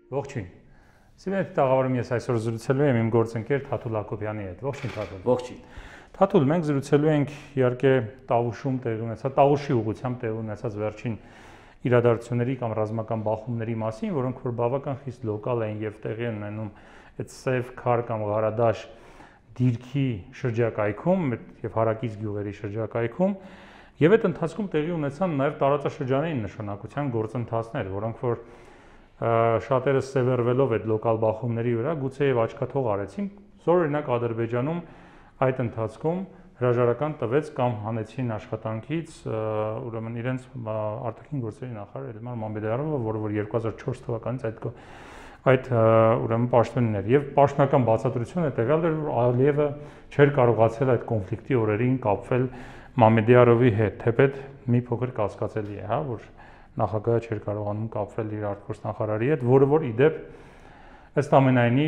Ողջույն։ Սիմետ տաղավարում ես այսօր զրուցելու եմ իմ գործընկեր Թաթուլ Հակոբյանի հետ։ Ողջույն Թաթուլ։ Ողջույն։ Թաթուլ, մենք զրուցելու ենք իհարկե Տավուշում տեղի ունեցած, Տավուշի ուղղությամբ տեղի ունեցած վերջին իրադարձությունների կամ ռազմական բախումների մասին, որոնք որ բավական խիստ լոկալ են եւ տեղի են ունենում այդ Սև Քար կամ Ղարադաշ դիրքի շրջակայքում եւ հարակից գյուղերի շրջակայքում եւ այդ ընթացքում տեղի ունեցան նաեւ տարածաշրջանային նշանակության գործընթացներ, որոնք որ շատերը սևեռվելով այդ լոկալ բախումների վրա գուցե եւ աչքաթող արեցին, օրինակ Ադրբեջանում այդ ընթացքում հրաժարական տվեց կամ հանեցին աշխատանքից ուրեմն իրենց արտաքին գործերի նախարար Էլմար Մամեդյարովը, որը որ 2004 թվականից այդ ուրեմն պաշտոնին էր եւ պաշտոնական բացատրությունը տվյալ էր, որ Ալիևը չէր կարողացել այդ կոնֆլիկտի օրերին կապվել Մամեդյարովի հետ, թեպետ մի փոքր կասկածելի է, հա, որ նախագահը չէր կարողանում կապվել իր արտգործնախարարի հետ, որը որ իդեպ ըստ ամենայնի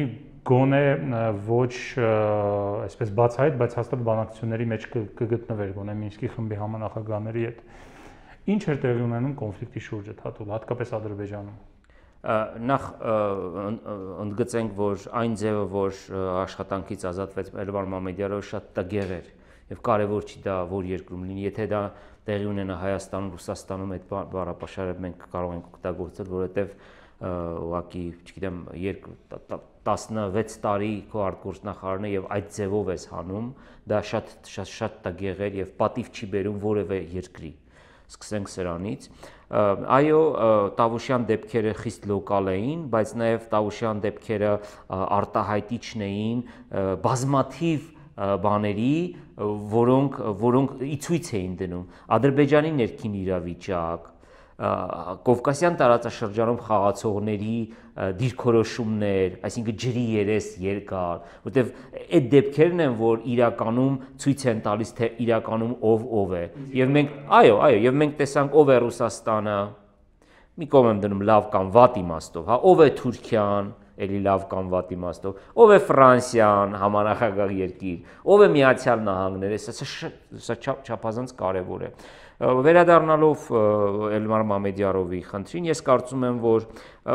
գոնե ոչ այսպես բացահայտ, բայց հաստատ բանակցությունների մեջ կգտնվեր գոնե Մինսկի խմբի համանախագահների հետ։ Ինչ էր տեղի ունենում կոնֆլիկտի շուրջը, Թաթուլ, հատկապես Ադրբեջանում։ Նախ ընդգծենք, որ այն ձևը, որ աշխատանքից ազատվեց Էլմար Մամեդյարովը շատ տգեղ էր եւ կարեւոր չի դա որ երկրում լինի, եթե դա տեղի ունենա Հայաստանում, Ռուսաստանում այդ բառապաշարը մենք կարող ենք օգտագործել, որովհետեւ ուղղակի, չգիտեմ, 16 տարի քո արտգործնախարարն է եւ այդ ձևով ես հանում, դա շատ տգեղ էր եւ պատիվ չի բերում որևէ երկրի։ Սկսենք սրանից։ Այո, Տավուշյան դեպքերը խիստ լոկալ էին, բայց նաեւ Տավուշյան դեպքերը արտահայտիչն էին բազմաթիվ բաների, որոնք իցույց էին դնում Ադրբեջանի ներքին իրավիճակ, Կովկասյան տարածաշրջանում խաղացողների դիրքորոշումներ, այսինքն ջրի երես երկար, որտեվ այդ դեպքերն են, որ իրականում ցույց են տալիս, թե իրականում ով է։ Եվ մենք, եւ մենք տեսանք ով է Ռուսաստանը, մի կողմ եմ դնում լավ կամ վատ իմաստով, հա, ով է Թուրքիան, էլի լավ կամ վատ իմաստով, ով է Ֆրանսիան, համանախագահ երկիր, ով է Միացյալ Նահանգները, սա չափազանց կարևոր է։ Վերադառնալով Էլմար Մամեդյարովի խնդրին, ես կարծում եմ, որ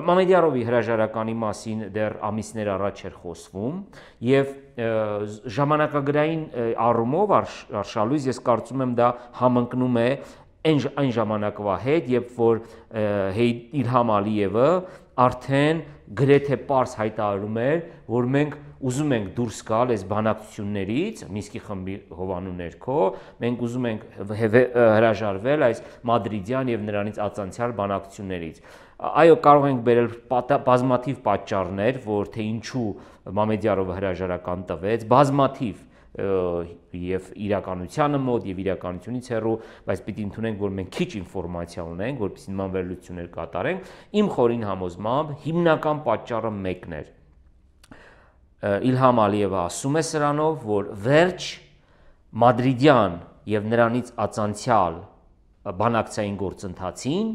Մամեդյարովի հրաժարականի մասին դեռ ամիսներ առաջ էր խոսվում եւ ժամանակագրային առումով արշալույս ես կարծում եմ դա համընկնում է այն ժամանակվա հետ, երբ որ Իլհամ Ալիևը արդեն գրեթե պարզ հայտարարում էր, որ մենք ուզում ենք դուրս գալ այս բանակցություններից, Մինսկի խմբի հովանու ներքո, մենք ուզում ենք հրաժարվել այս մադրիդյան եւ նրանից ածանցյալ բանակցություններից։ Այո, կարող ենք բերել բազմաթիվ պատճառներ, որ թե ինչու Մամեդյարովը հրաժարական տվեց, բազմաթիվ եւ իրականությանը մոտ եւ իրականությունից հեռու, բայց պիտի ընդունենք, որ մենք քիչ ինֆորմացիա ունենք, որպեսզի նման վերլուծություններ կատարենք, իմ խորին համոզմամբ հիմնական պատճառը մեկն էր։ Իլհամ Ալիևը ասում է սրանով, որ վերջ մադրիդյան եւ նրանից ածանցյալ բանակցային գործընթացին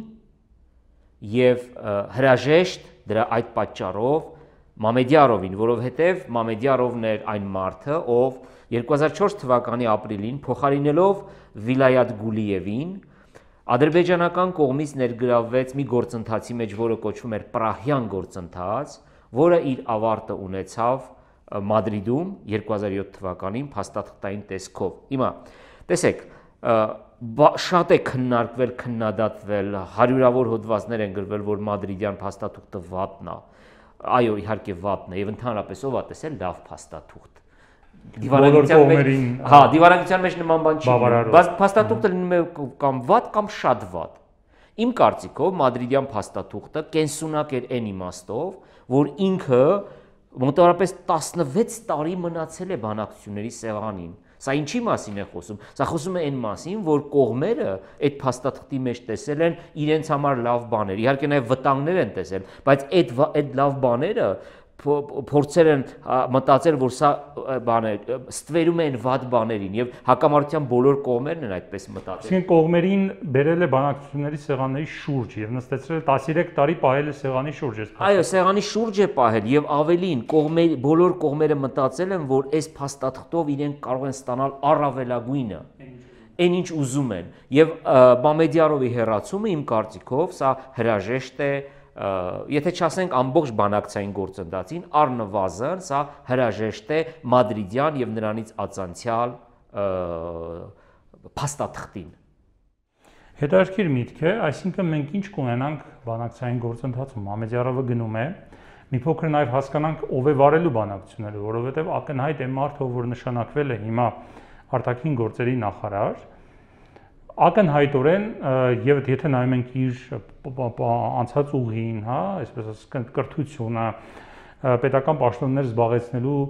եւ հրաժեշտ դրա այդ պատճառով Մամեդյարովին, որովհետեւ Մամեդյարովն էր այն մարդը, ով 2004 թվականի ապրիլին փոխարինելով Վիլայաթ Գուլիևին ադրբեջանական կողմից ներգրավվեց մի գործընթացի մեջ, որը կոչվում էր Պրահյան գործընթաց, որը իր ավարտը ունեցավ Մադրիդում 2007 թվականին փաստաթղթային տեսքով։ Հիմա, տեսեք, շատ է քննարկվել, քննադատվել, հարյուրավոր հոդվածներ են գրվել, որ մադրիդյան փաստաթուղթը վատն է։ Այո, իհարկե վատն է, եւ ընդհանրապես ով է տեսել լավ փաստաթուղթ։ Դիվանագիտության մեջ նման բան չի, բայց փաստաթուղթը լինում է կամ վատ կամ շատ վատ։ Իմ կարծիքով մադրիդյան փաստաթուղթը կենսունակ էր այն իմաստով, որ ինքը մոտավորապես 16 տարի մնացել է բանակցությունների սեղանին։ Սա ինչի մասին է խոսում։ Սա խոսում է այն մասին, որ կողմերը այդ փաստաթղթի մեջ տեսել են իրենց համար լավ բաներ։ Իհարկե նաև վտանգներ են տեսել, բայց այդ լավ բաները փորձեր են մտածել, որ սա բաներ ստվերում են վատ բաներին եւ հակամարտության բոլոր կողմերն են այդպես մտածել։ Այսինքն կողմերին բերել է բանակցությունների սեղանների շուրջ եւ նստեցրել 13 տարի պահել է սեղանի շուրջ։ Այո, սեղանի շուրջ է պահել եւ ավելին բոլոր կողմերը մտածել են, որ այս փաստաթղթով իրենք կարող են ստանալ առավելագույնը։ Այն ինչ ուզում են եւ Մամեդյարովի հերացումը իմ կարծիքով սա հրաժեշտ է եթե չասենք ամբողջ բանակցային գործընթացին, առնվազն սա հրաժեշտ է մադրիդյան եւ նրանից ածանցյալ փաստաթղթին։ Հետաքրքիր միտք է, այսինքն մենք ինչ կունենանք բանակցային գործընթացում, Մամեդյարովը գնում է, մի փոքր նաև հասկանանք ով է վարելու բանակցությունները, որովհետև ակնհայտ է մարդը, որ նշանակվել է հիմա արտաքին գործերի նախարար, ակնհայտորեն եւ եթե նայում ենք իր անցած ուղին, հա, այսպես ասած կրթությունը, պետական պաշտոններ զբաղեցնելու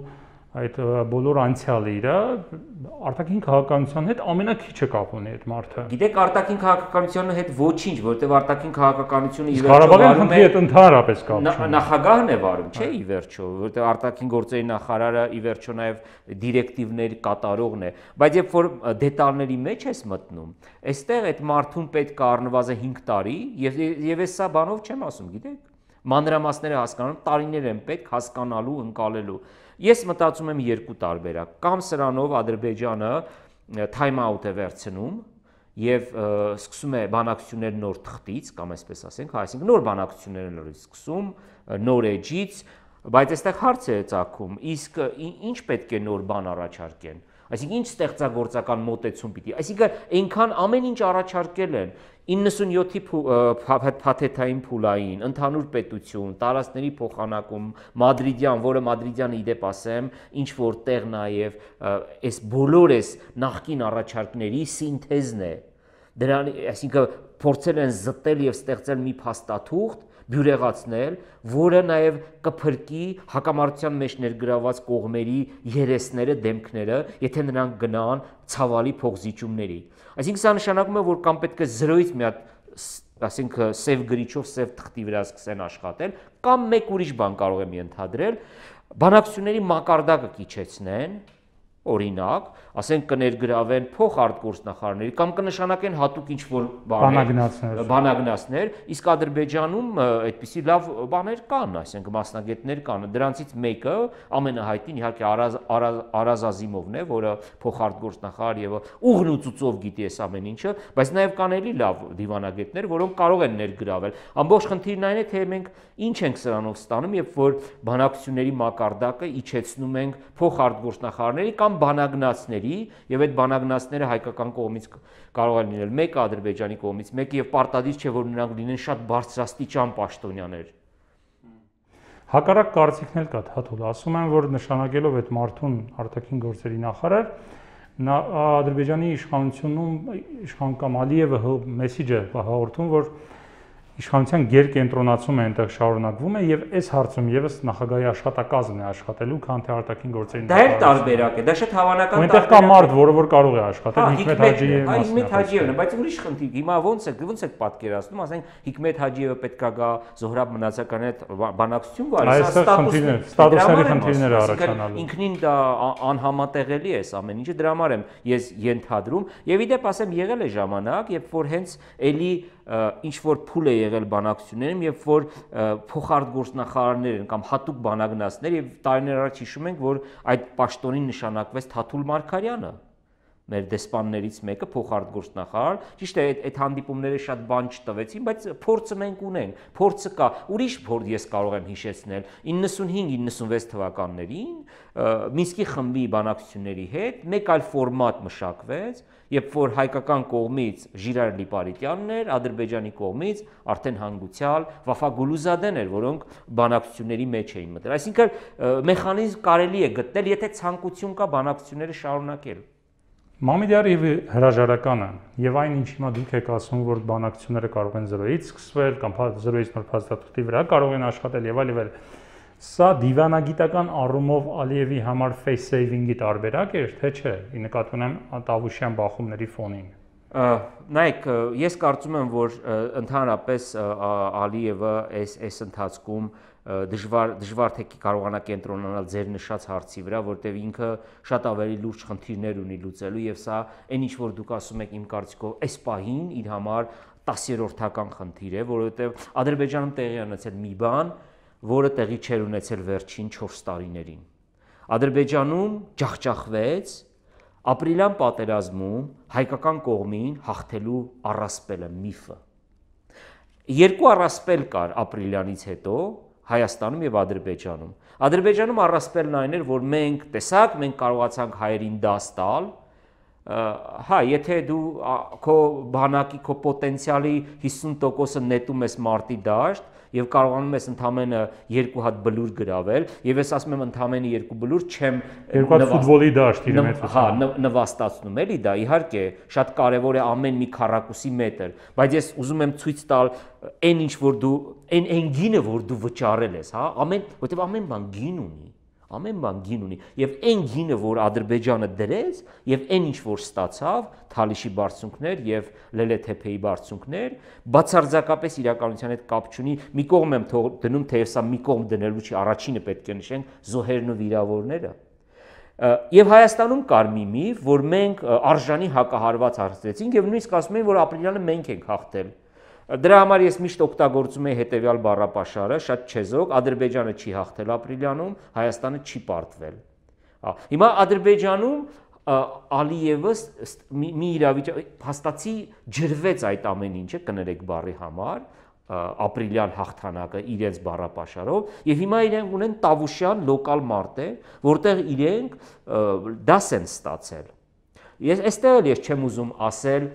այդ բոլոր անցյալը իր արտաքին քաղաքականության հետ ամենակիչը կապ ունի այդ մարդը։ Գիտեք, արտաքին քաղաքականության հետ ոչինչ, որտեղ արտաքին քաղաքականությունը ի վերջո վարում է ընդհանրապես կապ ունի։ Նախագահն է վարում, չէ՞ ի վերջո, որտեղ արտաքին գործերի նախարարը ի վերջո նաև դիրեկտիվներ կատարողն է, բայց երբ որ դետալների մեջ ես մտնում, այստեղ այդ մարդուն պետք է առնվազն 5 տարի եւ ես սա բանով չեմ ասում, գիտեք, մանրամասները հասկանում, տարիներ են պետք հասկանալու, ընկալելու։ Ես մտածում եմ երկու տարբերակ, կամ սրանով Ադրբեջանը time out է վերցնում եւ սկսում է բանակցություններ նոր թղթից, կամ այսպես ասենք, այսինքն նոր բանակցություններ նորից սկսում, նոր էջից, բայց այստեղ հարց է ծագում, իսկ ինչ պետք է նոր բան առաջարկեն։ Այսինքն ինչ ստեղծագործական մոտեցում պիտի։ Այսինքն այնքան ամեն ինչ առաջարկել են 97-ի փաթեթային փուլային, ընդհանուր պետություն, տարածքների փոխանակում, մադրիդյան, որը մադրիդյանը իդեպ ասեմ, ինչ որ տեղ նաև այս բոլոր այս նախկին առաջարկների սինթեզն է։ Դրան, այսինքն փորձել են զտել եւ ստեղծել մի փաստաթուղթ, բյուրեղացնել, որը նաև կփրկի հակամարտության մեջ ներգրաված կողմերի երեսները, դեմքները, եթե նրանք գնան ցավալի փոխզիջումների։ Այսինքն սա նշանակում է, որ կամ պետք է 0-ից մի հատ, ասենք, սև գրիչով, սև թղթի վրա սկսեն աշխատել, կամ մեկ ուրիշ բան կարող եմ ենթադրել, բանակցությունների մակարդակը կիչեցնեն, օրինակ, ասենք կներգրավեն փոխարտգործնախարարների կամ կնշանակեն հատուկ ինչ-որ բանագնացներ, իսկ Ադրբեջանում այդպիսի լավ բաներ կան, այսինքն մասնագետներ կան, դրանցից մեկը ամենահայտնին իհարկե Արազ Ազիմովն է, որը փոխարտգործնախարար եւ ուղղն ու ծուծով գիտի այս ամեն ինչը, բայց նաեւ կան էլի լավ դիվանագետներ, որոնք կարող են ներգրավել։ Ամբողջ խնդիրն այն է, թե մենք ինչ ենք սրանով ստանում, երբ որ բանակցությունների մակարդակը իջեցնում ենք փոխարտգործնախարարների կամ բանագնացների եւ այդ բանագնացները հայկական կողմից կարող են լինել մեկը Ադրբեջանի կողմից, մեկը եւ պարտադիր չէ որ նրանք լինեն շատ բարձրաստիճան պաշտոնյաներ։ Հակառակ կարծիքն էլ կա, Թաթուլ, ասում են, որ նշանակելով այդ մարդուն արտաքին գործերի նախարար, Ադրբեջանի իշխան կամ Ալիևը մեսիջը հաղորդում, որ իշխանության գերկենտրոնացումը այնտեղ շարունակվում է եւ այս հարցում եւս նախագահի աշխատակազմն է աշխատելու, քան թե արտաքին գործերի նախարարը։ Դա էլ տարբերակ է, դա շատ հավանական տարբերակ է։ Այնտեղ կա մարդ, որը որ կարող է աշխատել, Հիկմետ Հաջիևը։ Հիկմետ Հաջիևն է, բայց ուրիշ խնդիր, հիմա ոնց եք պատկերացնում, ասենք Հիկմետ Հաջիևը պետքա գա Զոհրաբ Մնացականի հետ բանակցություն գալի, սա ստատուսների խնդիրներ է առաջանալու։ Ինքնին դա անհամատեղելի է ամեն ինչը, դրա համար եմ ես ենթադրում, եւ իդեպ ասեմ եղել է ժամանակ, երբ որ հենց էլի ինչ որ փուլ է եղել բանակցություններում, երբ որ փոխարտգործնախարարներ են կամ հատուկ բանագնացներ եւ տարիներ առաջ հիշում ենք, որ այդ պաշտոնին նշանակվեց Թաթուլ Մարգարյանը, մեր դեսպաններից մեկը փոխարտգործնախարար, ճիշտ է, այդ հանդիպումները շատ բան չտվեցին, բայց փորձը մենք ունենք, փորձը կա, ուրիշ փորձ ես կարող եմ հիշեցնել 95-96 թվականներին Մինսկի խմբի բանակցությունների հետ մեկ այլ ֆորմատ մշակվեց, երբ որ հայկական կողմից Ժիրայր Լիպարիտյանն էր, Ադրբեջանի կողմից արդեն հանգուցյալ Վաֆա Գուլուզադեն էր, որոնք բանակցությունների մեջ էին մտել։ Այսինքն մեխանիզմ կարելի է գտնել, եթե ցանկություն կա բանակցությունները շարունակել։ Մամեդյարովի հրաժարականը եւ այն ինչ հիմա դուք եք ասում, որ բանակցությունները կարող են 0-ից սկսվել կամ 0-ից նոր փաստաթղթի վրա կարող են աշխատել եւ այլ, սա դիվանագիտական առումով Ալիևի համար face saving-ի տարբերակ էր, թե չէ, ի նկատի ունեմ Տավուշյան բախումների ֆոնին։ Նայեք, ես կարծում եմ, որ ընդհանրապես Ալիևը այս ընթացքում դժվար թե կարողանա կենտրոնանալ ձեր նշած հարցի վրա, որտեղ ինքը շատ ավելի լուրջ խնդիրներ ունի լուծելու եւ սա այն ինչ որ դուք ասում եք իմ կարծիքով այս պահին իր համար 10-րդական խնդիր է, որովհետեւ Ադրբեջանում տեղի ունեցել մի բան, որը տեղի չէր ունեցել վերջին 4 տարիներին։ Ադրբեջանում ջախջախվեց ապրիլյան պատերազմում հայկական կողմին հաղթելու առասպելը միֆը։ երկու առասպել կար ապրիլյանից հետո Հայաստանում եւ Ադրբեջանում։ Ադրբեջանում առասպելն այն էր, որ մենք տեսակ, մենք կարողացանք հայերին դաս տալ, հա, եթե դու քո բանակի, քո պոտենցիալի 50%-ը նետում ես մարտի դաշտ եւ կարողանում ես ընդամենը 2 հատ բլուր գրավել, եւ ես ասում եմ ընդամենը 2 բլուր չեմ 2 հատ ֆուտբոլի դաշտ իր մեջ։ Հա, նվաստացնում էլի դա, իհարկե, շատ կարեւոր է ամեն մի քառակուսի մետր, բայց ես ուզում եմ ցույց տալ այն ինչ որ դու այն գինը որ դու վճարել ես, հա, որտեւ ամեն բան գին ունի։ Ամեն բան գին ունի եւ այն գինը որ Ադրբեջանը դրեց եւ այն ինչ որ ստացավ Թալիշի բարձունքներ եւ Լելեթեփեի բարձունքներ բացարձակապես իրականության հետ կապ չունի մի կողմ եմ դնում թեև սա մի կողմ դնելու չի առաջինը պետք է նշենք զոհերն ու վիրավորները եւ Հայաստանում կար մի միֆ որ մենք արժանի հակահարված հարցրեցինք եւ նույնիսկ ասում են որ ապրիլյանը մենք ենք հաղթել Դրա համար ես միշտ օգտագործում եմ հետեւյալ բառապաշարը, շատ չեզոք, Ադրբեջանը չի հաղթել ապրիլյանում, Հայաստանը չի պարտվել։ Հիմա Ադրբեջանում Ալիևը մի իրավիճակ հաստատի ջրվեց այդ ամեն ինչը, կներեք բառի համար, ապրիլյան հաղթանակը իրենց բառապաշարով, եւ հիմա իրենք ունեն Տավուշյան լոկալ մարտեր, որտեղ իրենք դաս են ստացել։ Այստեղ ես չեմ ուզում ասել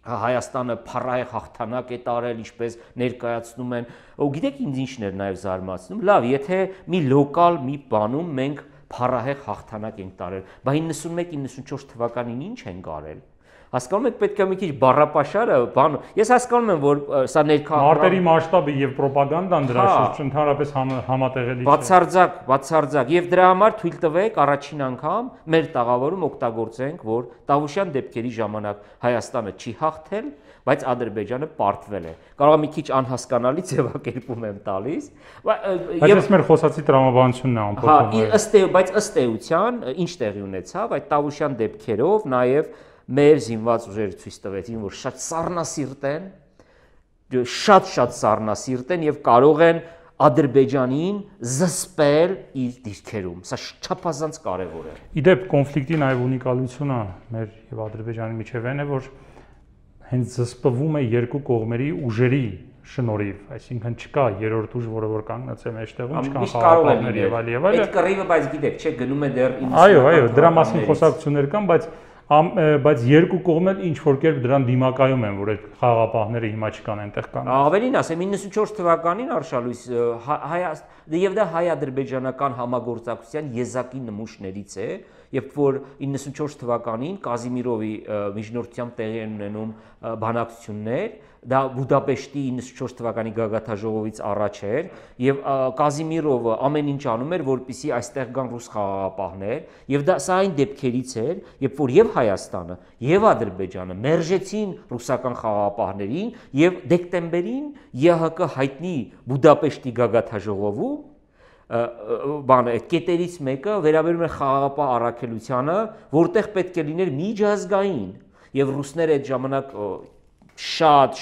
Հայաստանը փառահեղ հաղթանակ է տարել, ինչպես ներկայացնում են։ Ու գիտեք ինձ ինչն էր նաև զարմացնում։ Լավ, եթե մի լոկալ մի բանում մենք փառահեղ հաղթանակ ենք տարել, բայց 91-94 թվականին ինչ են արել։ Հասկանում եք պետք է մի քիչ բառապաշարը, բան։ Ես հասկանում եմ, որ սա ներքաղաքական մարտերի մասշտաբը եւ ռոպագանդան դրա շուրջ ընդհանրապես համատեղելի չէ։ Բացարձակ եւ դրա համար թույլ տվեք առաջին անգամ մեր տաղավարում օգտագործենք, որ Տավուշյան դեպքերի ժամանակ Հայաստանը չի հաղթել, բայց Ադրբեջանը պարտվել է։ Կարող է մի քիչ անհասկանալի ձևակերպում եմ տալիս, բայց ես մեր խոսացի տրամաբանությունն է ամփոփում։ Հա, բայց ըստ էության ինչ տեղի ունեցավ, այդ Տավուշյան դեպքերով նաեւ մեր զինված ուժերը ցույց տվեցին, որ շատ սառնասիրտ են, շատ սառնասիրտ են եւ կարող են Ադրբեջանին զսպել իր դիրքերում։ Սա չափազանց կարեւոր է։ Իդեպ կոնֆլիկտի նաեւ ունիկալությունը մեր եւ Ադրբեջանի միջև այն է, որ հենց զսպվում է երկու կողմերի ուժերի շնորհիվ, այսինքն չկա երրորդ ուժ, որը որ կանգնած է մեջտեղում, չկան խաղաղներ եւ այլ եւ այլ։ Այդ կռիվը բայց գիտեք, չէ, գնում է դեռ 90-ական։ Այո, դրա մասին խոսակցություններ կան, բայց երկու կողմը ինչ որ կերպ դրան դիմակայում են, որ այդ խաղաղապահները հիմա չկան այնտեղ կան։ Ավելին ասեմ, 94 թվականին Արշալույս եւ դա հայ-ադրբեջանական համագործակցության եզակի նմուշներից է, երբ որ 94 թվականին Կազիմիրովի միջնորդությամբ տեղի են ունենում բանակցություններ, դա Բուդապեշտի 94 թվականի գագաթաժողովից առաջ էր եւ Կազիմիրովը ամեն ինչ անում էր, որպեսզի այստեղ գան ռուս խաղաղապահներ եւ դա սա այն դեպքերից էր, երբ որ եւ Հայաստանը եւ Ադրբեջանը մերժեցին ռուսական խաղաղապահներին եւ դեկտեմբերին ԵՀԿ հայտնի Բուդապեշտի գագաթաժողովում այդ կետերից մեկը վերաբերում է խաղաղապահ առաքելությանը, որտեղ պետք է լիներ միջազգային եւ ռուսները այդ ժամանակ շատ,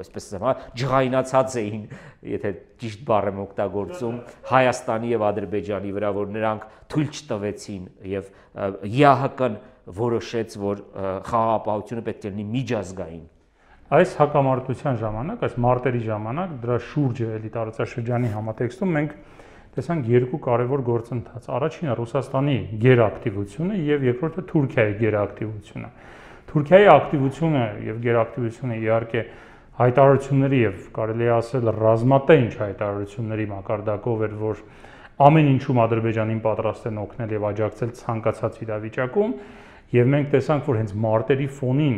այսպես ասեմ, ջղայնացած էին, եթե ճիշտ բառ եմ օգտագործում, Հայաստանի եւ Ադրբեջանի վրա, որ նրանք թույլ չտվեցին եւ ԵԱՀԿ-ն որոշեց, որ խաղաղապահությունը պետք է լինի միջազգային։ Այս հակամարտության ժամանակ, այս մարտերի ժամանակ դրա շուրջը էլի տարածաշրջանի համատեքստում մենք տեսանք երկու կարևոր գործընթաց։ Առաջինը Ռուսաստանի գերակտիվությունը եւ երկրորդը Թուրքիայի գերակտիվությունը։ Թուրքիայի ակտիվությունը եւ գերակտիվությունը իհարկե հայտարարությունների եւ կարելի է ասել ռազմատենչ հայտարարությունների մակարդակով էր, որ ամեն ինչում Ադրբեջանին պատրաստ են օգնել եւ աջակցել ցանկացած իրավիճակում եւ մենք տեսանք, որ հենց մարտերի ֆոնին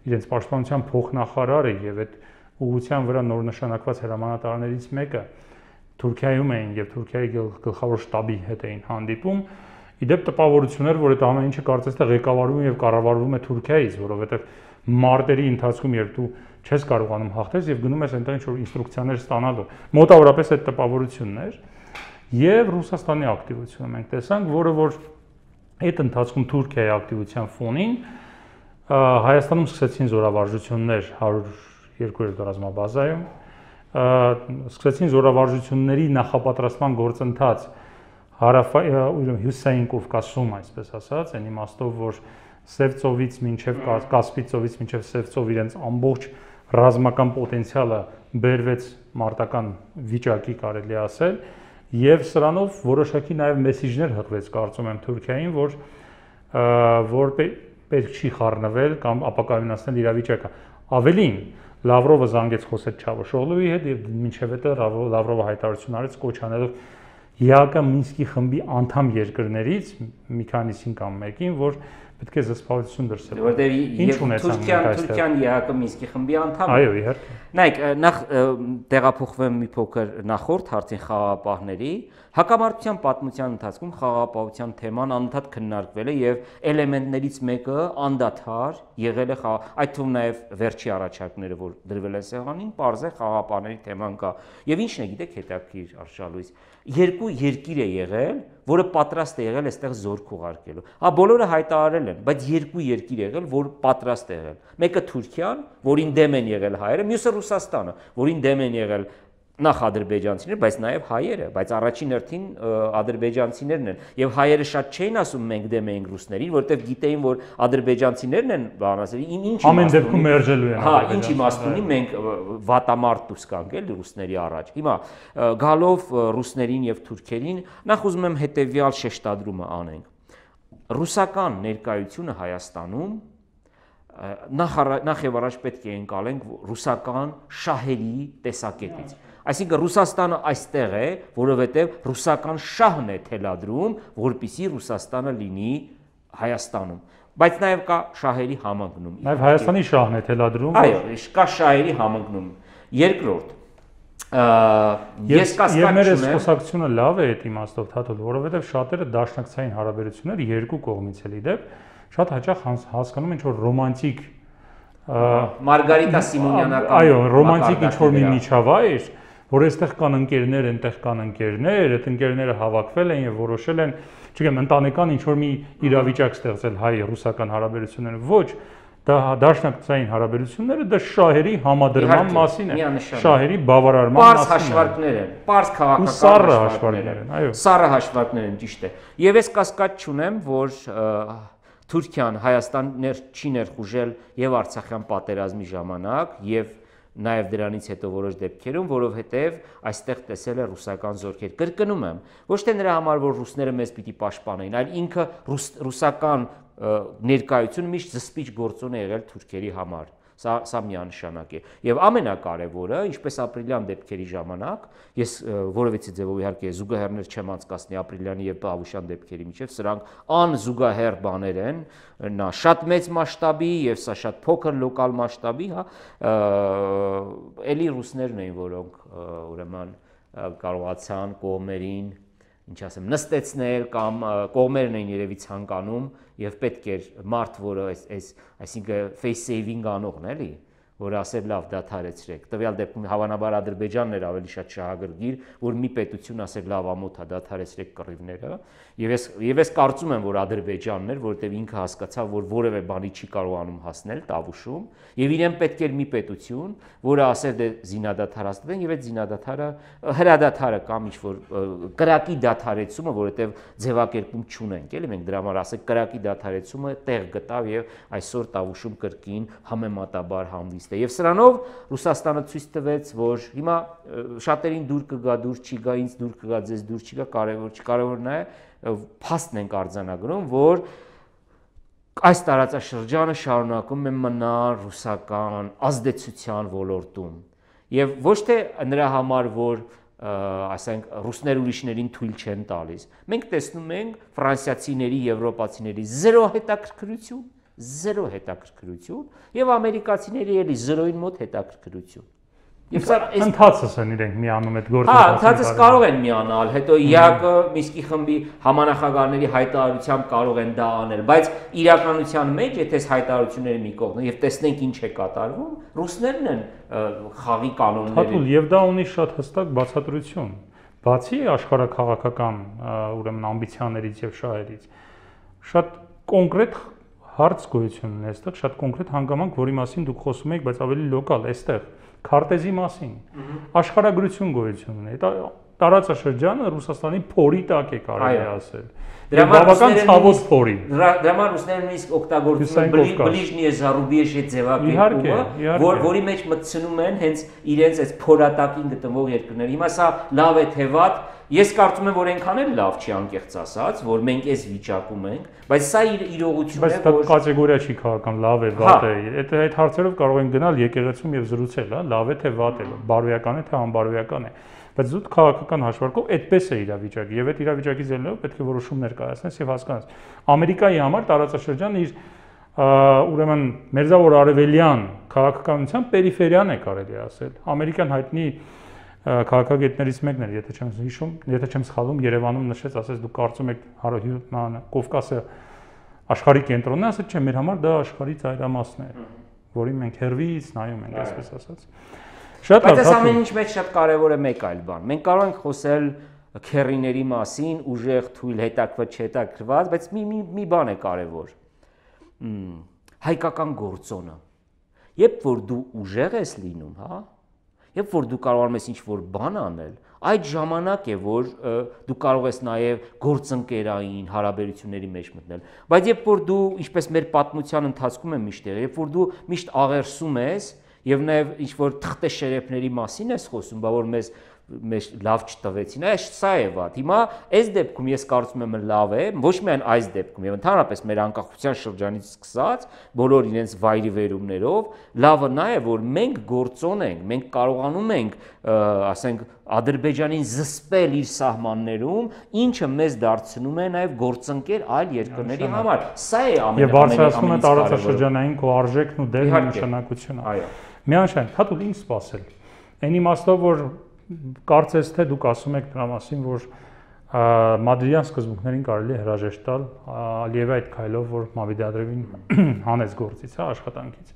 իրենց պաշտպանության փոխնախարարը եւ այդ ուղղության վրա նոր նշանակված հրամանատարներից մեկը Թուրքիայում էին եւ Թուրքիայի գլխավոր շտաբի հետ էին հանդիպում։ Իդեպ տպավորություններ, որ այդ ամեն ինչը կարծես թե ղեկավարվում եւ կառավարվում է Թուրքիայից, որովհետեւ մարտերի ընթացքում երբ դու չես կարողանում հաղթես եւ գնում ես այնտեղ ինչ-որ ինստրուկցիաներ ստանալու, մոտավորապես այդ տպավորությունն էր եւ Ռուսաստանի ակտիվությունը մենք տեսանք, որը որ այդ ընթացքում Թուրքիայի ակտիվության ֆոնին Հայաստանում սկսեցին զորավարժություններ 102 ռազմաբազայում, սկսեցին զորավարժությունների նախապատրաստման գործընթաց հյուսային Կովկասում, այսպես ասած, այն իմաստով, որ Սևծովից մինչև Կասպից ծովից մինչև Սևծով իրենց ամբողջ ռազմական պոտենցիալը բերվեց մարտական վիճակի կարելի ասել եւ սրանով որոշակի նաեւ մեսիջներ հղվեց կարծում եմ Թուրքիային, որ պետք չի խառնվել կամ ապակայունացնել իրավիճակը։ Ավելին Լավրովը զանգեց խոսեց Չավուշօղլուի հետ եւ մինչեւ հետո Լավրովը հայտարարություն արեց կոչ անելով ԵԱԿ Մինսկի խմբի անդամ երկրներից մի քանիսին կամ մեկին, որ պետք է զսպվածություն դրսել։ Որտեղ Թուրքիան ԵԱԿ Մինսկի խմբի անդամ է։ Այո, իհարկե։ Նայեք, նախ տեղափոխվեմ մի փոքր նախորդ հարցին խաղաղապահների հակամարտության պատմության ընթացքում խաղաղապահության թեման անընդհատ քննարկվել է եւ էլեմենտներից մեկը անդադար եղել է այդ թվում նաեւ վերջի առաջարկները, որ դրվել են սեղանին, պարզ է խաղաղապահների թեման կա։ Եվ ինչն է, գիտեք, հետաքրքիր Արշալույս, երկու երկիր է եղել, որը պատրաստ է եղել այստեղ զորք ուղարկելու։ Հա բոլորը հայտարարել են, բայց երկու երկիր եղել, որ պատրաստ է եղել։ Մեկը Թուրքիան, որին դեմ են եղել հայերը, մյուսը Ռուսաստանը, որին դեմ են եղել նախ ադրբեջանցիները, բայց նաև հայերը, բայց առաջին հերթին ադրբեջանցիներն են։ Եվ հայերը շատ չէին ասում մենք դեմ ենք ռուսներին, որովհետև գիտեին, որ ադրբեջանցիներն են բան ասել, ինչ ամեն դեպքում մերժելու են։ Հա, ինչ իմաստ ունի, մենք վատամարտ դուրս կանք էլի ռուսների առաջ։ Հիմա գալով ռուսներին եւ թուրքերին, նախ ուզում եմ հետեւյալ շեշտադրումը անենք։ Ռուսական ներկայությունը Հայաստանում նախ եւ առաջ պետք է ընկալենք ռուսական շահերի տեսակետից։ Այսինքն Ռուսաստանը այստեղ է, որովհետև ռուսական շահն է թելադրում, որպեսզի Ռուսաստանը լինի Հայաստանում, բայց նաև կա շահերի համընկնում։ Նաև Հայաստանի շահն է թելադրում։ Այո, կա շահերի համընկնում։ Երկրորդ, ես կասկած չունեմ։ Մեր խոսակցությունը լավ է այդ իմաստով, Թաթոլ, որովհետև շատերը դաշնակցային հարաբերություններ երկու կողմից էլ իդեպ շատ հաճախ հասկանում են, որ ռոմանտիկ Մարգարիտա Սիմոնյանական, այո, ռոմանտիկ ինչ-որ մի միջավայր, որ այստեղ կան ընկերներ, այնտեղ կան ընկերներ, այդ ընկերները հավաքվել են եւ որոշել են, չգիտեմ, ընտանեկան ինչ-որ մի իրավիճակ ստեղծել հայ-ռուսական հարաբերությունները։ Ոչ, դա դաշնակցային հարաբերությունները դա շահերի համադրման մասին է, շահերի բավարարման մասին է։ Պարզ հաշվարկներ են, պարզ քաղաքական հաշվարկներ են, այո։ Սառը հաշվարկներ են, ճիշտ է։ Եվ ես կասկած չունեմ, որ Թուրքիան Հայաստան չի ներխուժել եւ Արցախյան պատերազմի ժամանակ եւ նաև դրանից հետո որոշ դեպքերում, որովհետև այստեղ տեսել է ռուսական զորքեր։ Կրկնում եմ, ոչ թե նրա համար, որ ռուսները մեզ պիտի պաշտպանեին, այլ ինքը ռուսական ներկայությունը միշտ զսպիչ գործոն է եղել թուրքերի համար։ Սա միանշանակ է։ Եվ ամենակարևորը, ինչպես ապրիլյան դեպքերի ժամանակ, ես որևիցե ձևով իհարկե զուգահեռներ չեմ անցկացնի ապրիլյանի եւ Պավուշյան դեպքերի միջև, սրանք անզուգահեռ բաներ են, նա շատ մեծ մասշտաբի եւ սա շատ փոքր լոկալ մասշտաբի, հա, էլի ռուսներն էին, որոնք ուրեմն կարողացան կողմերին ինչ ասեմ, նստեցնել կամ կողմերն էին երևի ցանկանում եւ պետք էր մարդ, որը այսինքն face saving անողն էլի, որը ասել լավ դադարեցրեք։ Տվյալ դեպքում հավանաբար Ադրբեջանն էր ավելի շատ շահագրգիռ, որ մի պետություն ասել լավ ամոթ է դադարեցրեք կռիվները, եւ ես կարծում եմ, որ Ադրբեջանն էր, որովհետեւ ինքը հասկացավ, որ որևէ բանի չի կարողանում հասնել Տավուշում, եւ իրեն պետք էր մի պետություն, որը ասել դե զինադադարացնեն եւ այդ զինադադարը հրադադարը կամ ինչ որ կրակի դադարեցումը, որովհետեւ ձևակերպում չունենք, էլի մենք դրա համար ասենք կրակի դադարեցումը տեղ գտավ եւ այսօր Տավուշում կրկին համեմատաբար հանդիստ է։ Եվ սրանով Ռուսաստանը ցույց տվեց, որ հիմա շատերին դուր կգա, դուր չի գա, ինձ դուր կգա, ձեզ դուր չի գա, կարևոր չի, կարևորն է փաստն ենք արձանագրում, որ այս տարածաշրջանը շարունակում է մնալ ռուսական ազդեցության ոլորտում։ Եվ ոչ թե նրա համար, որ ասենք ռուսներ ուրիշներին թույլ չեն տալիս։ Մենք տեսնում ենք ֆրանսիացիների, եվրոպացիների զերո հետաքրքրություն, զերո հետաքրքրություն եւ ամերիկացիների էլի զերոին մոտ հետաքրքրություն։ Եվ սա ընթացս են իրենք միանում այդ գործը։ Հա, ընթացս կարող են միանալ, հետո ԵԱԿ Մինսկի խմբի համանախագահների հայտարարությամբ կարող են դա անել, բայց իրականության մեջ, եթե հայտարարությունները մի կողմ եւ տեսնենք ինչ է կատարվում, ռուսներն են խաղի կանոնները։ Թաթուլ, եւ դա ունի շատ հստակ բացատրություն։ Բացի աշխարհաքաղաքական ուրեմն ամբիցիաներից եւ շահերից, շատ կոնկրետ հարց գոյություն ունի այստեղ, շատ կոնկրետ հանգամանք, որի մասին դուք խոսում եք, բայց ավելի լոկալ, այստեղ քարտեզի մասին, աշխարհագրություն գոյություն ունի։ Դա տարածաշրջանը Ռուսաստանի փորի տակ է կարելի ասել։ Դրա բավական ցավոտ փորի։ Դրա համար ռուսներն նույնիսկ օգտագործում են բլիժնիե զարուբիեշի ձևակերպումը, որի մեջ մտցնում են հենց իրենց այս փորատակին գտնվող երկրներ։ Հիմա սա լավ է թե վատ, ես կարծում եմ, որ այնքան էլ լավ չի անկեղծ ասած, որ մենք այս վիճակում ենք, բայց սա իրողություն է, որ բայց դա կատեգորիա չի քաղաքական, լավ է, վատ է։ Այդ հարցերով կարող են գնալ եկեղեցում եւ զրուցել, հա, լավ է թե վատ է, բարոյական է թե անբարոյական է։ Բայց զուտ քաղաքական հաշվարկով այդպես է իրավիճակը եւ այդ իրավիճակից ելնելով պետք է որոշումներ կայացնես եւ հասկանաս։ Ամերիկայի համար տարածաշրջանը իր ուրեմն մերձավոր արևելյան քաղաքականության պերիֆերիան է կարելի ասել։ Ամերիկան հայտնի քաղաքագետներից մեկն էր, եթե չեմ հիշում, եթե չեմ սխալվում, Երևանում նշեց, ասես դուք կարծում եք Կովկասը աշխարհի կենտրոնն է, ասեց չէ, մեր համար դա աշխարհի ծայրամասն է, որին մենք հերվից նայում ենք, այսպես ասած։ Շատ լավ։ Բայց այս ամեն ինչ մեջ շատ կարևոր է մեկ այլ բան։ Մենք կարող ենք խոսել քերիների մասին, ուժեղ, թույլ, հետաքրքրված, չհետաքրքրված, բայց մի բան է կարևոր։ Հայկական գործոնը։ Երբ որ դու ուժեղ ես լինում, հա, երբ որ դու կարողանում ես ինչ-որ բան անել, այդ ժամանակ է, որ դու կարող ես նաև գործընկերային հարաբերությունների մեջ մտնել։ Բայց երբ որ դու, ինչպես մեր պատմության ընթացքում է միշտ եղել, երբ որ դու միշտ աղերսում ես եւ նաեւ ինչ որ թղթե շերեփների մասին ես խոսում, բա որ մեզ լավ չտվեցին, այս սա է վատ։ Հիմա այս դեպքում ես կարծում եմ լավ է, ոչ միայն այս դեպքում, եւ ընդհանրապես մեր անկախության շրջանից սկսած բոլոր իրենց վայրի վերումներով, լավը նա է, որ մենք գործոն ենք, մենք կարողանում ենք, ասենք, Ադրբեջանին զսպել իր սահմաններում, ինչը մեզ դարձնում է նաև գործընկեր այլ երկրների համար։ Սա է ամենից բարձրացնում է տարածաշրջանային քո արժեքն ու դերն ու նշանակությունը։ Այո։ Միանշանակ, հատուկ ինչ սпасել։ Այն իմաստով, որ կարծես թե դուք ասում եք դրա մասին, որ մադրիդյան սկզբունքներին կարելի է հրաժեշտ տալ Ալիևի այդ քայլով, որ Մավիդադրևին հանեց գործից, հա, աշխատանքից։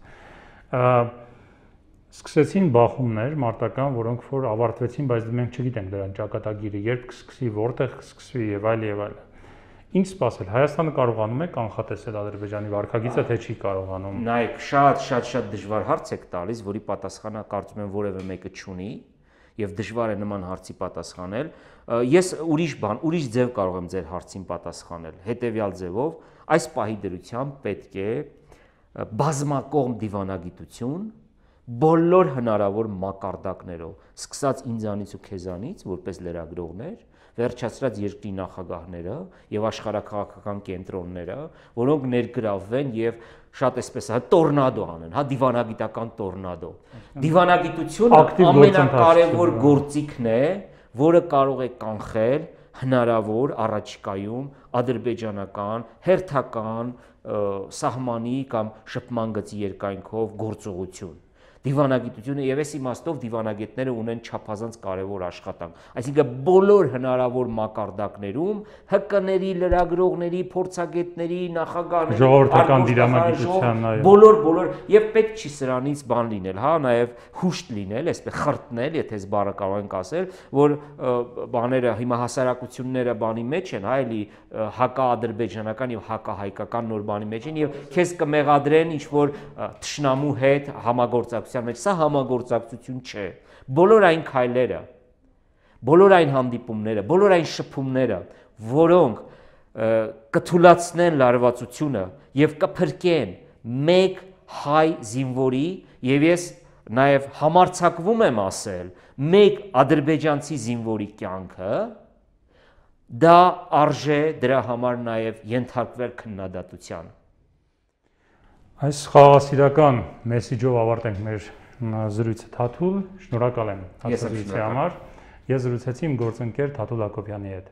Սկսեցին բախումներ մարտական, որոնք որ ավարտվեցին, բայց մենք չգիտենք դրան ճակատագիրը, երբ կսկսի, որտեղ կսկսվի եւ այլ եւ այլ։ Ինչ սпасել։ Հայաստանը կարողանում է կանխատեսել Ադրբեջանի վարքագիծը, թե չի կարողանում։ Նայեք, շատ դժվար հարց եք տալիս, որի պատասխանը կարծում եմ որևէ մեկը չունի եւ դժվար է նման հարցի պատասխանել։ Ես ուրիշ ձև կարող եմ ձեր հարցին պատասխանել։ Հետեւյալ ձևով, այս պահի դրությամբ պետք է բազմակողմ դիվանագիտություն բոլոր հնարավոր մակարդակներով, սկսած ինձանից ու քեզանից, որպես լրագրողներ, վերջացրած երկրի նախագահները եւ աշխարհակաղակական կենտրոնները, որոնք ներգրավվեն եւ շատ էսպես տորնադո անեն, հա, դիվանագիտական տորնադո։ Դիվանագիտությունը ամենակարևոր գործիքն է, որը կարող է կանխել հնարավոր առաջիկայում ադրբեջանական հերթական սահմանի կամ շփման գծի երկայնքով գործողություն։ Դիվանագիտությունը եւ այս իմաստով դիվանագետները ունեն չափազանց կարևոր աշխատանք։ Այսինքն բոլոր հնարավոր մակարդակներում ՀԿ-ների, լրագրողների, փորձագետների, նախագահների, ժողովրդական դիվանագիտության բոլոր եւ պետք չի սրանից բան լինել, հա, նաեւ հուշտ լինել, այսպես խրտնել, եթե այս բառը կարող ենք ասել, որ բաները հիմա հասարակությունները բանի մեջ են, հա, էլի հակաադրբեջանական եւ հակահայկական նոր բանի մեջ են եւ քեզ կմեղադրեն ինչ որ թշնամու հետ համագործակցություն մեջ, սա համագործակցություն չէ։ Բոլոր այն քայլերը, բոլոր այն հանդիպումները, բոլոր այն շփումները, որոնք կթուլացնեն լարվածությունը եւ կփրկեն մեկ հայ զինվորի եւ ես նաեւ համարձակվում եմ ասել մեկ ադրբեջանցի զինվորի կյանքը, դա արժե դրա համար նաեւ ենթարկվել քննադատության։ Այս խաղաղասիրական մեսիջով ավարտենք մեր զրույցը Թաթուլ, շնորհակալ եմ հաղորդակցության համար։ Ես զրուցեցի իմ գործընկեր Թաթուլ Հակոբյանի հետ։